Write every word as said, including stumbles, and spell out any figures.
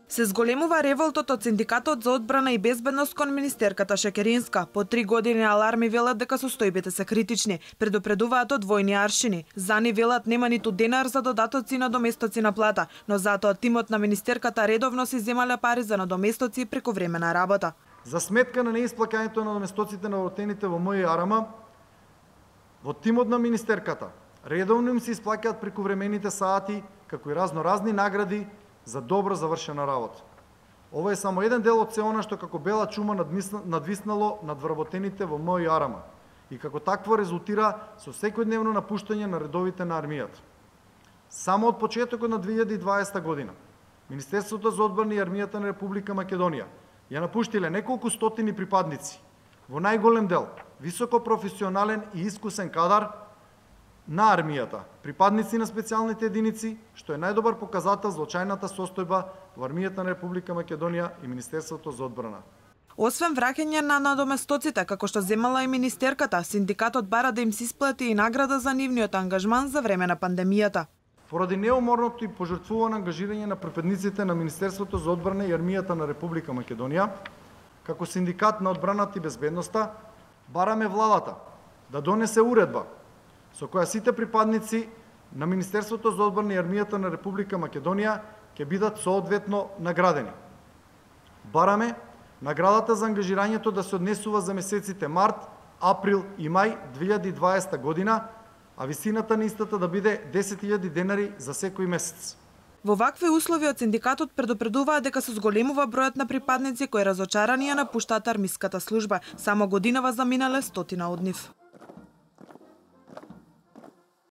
Се зголемува револтот од Синдикатот за одбрана и безбедност кон министерката Шекеринска. По три години аларми велат дека состојбите се критични. Предупредуваат од двојни аршини. За ни велат нема ниту денар за додатоци и надоместоци на плата, но затоа тимот на министерката редовно си земале пари за надоместоци и прековремена работа. За сметка на неисплаќањето на надоместоците на вработените во МЈАРМ, во тимот на министерката редовно им се исплаќаат прековремените сати, како и разноразни награди за добро завршена работа. Ова е само еден дел од се она што како бела чума надвиснало над вработените во МЈАРМ и како такво резултира со секојдневно напуштање на редовите на армијата. Само од почетокот на две илјади и дваесета година Министерството за одбрана и армијата на Република Македонија ја напуштиле неколку стотини припадници, во најголем дел високопрофесионален и искусен кадар на армијата, припадници на специјалните единици, што е најдобар показател за очајната состојба во армијата на Република Македонија и Министерството за одбрана. Освен враќање на надоместоците, како што земала и министерката, синдикатот бара да им се исплати и награда за нивниот ангажман за време на пандемијата. Поради неуморното и пожртвувано ангажирање на припадниците на Министерството за одбрана и армијата на Република Македонија, како синдикат на одбраната и безбедноста, бараме владата да донесе уредба со која сите припадници на Министерството за одбрана и армијата на Република Македонија ќе бидат соодветно наградени. Бараме наградата за ангажирањето да се однесува за месеците март, април и мај две илјади и дваесета година, а висината на истата да биде десет илјади денари за секој месец. Во вакви услови од синдикатот предупредуваат дека се зголемува бројот на припадници кои разочарани ја напуштаат армиската служба. Само годинава заминале стотина од нив.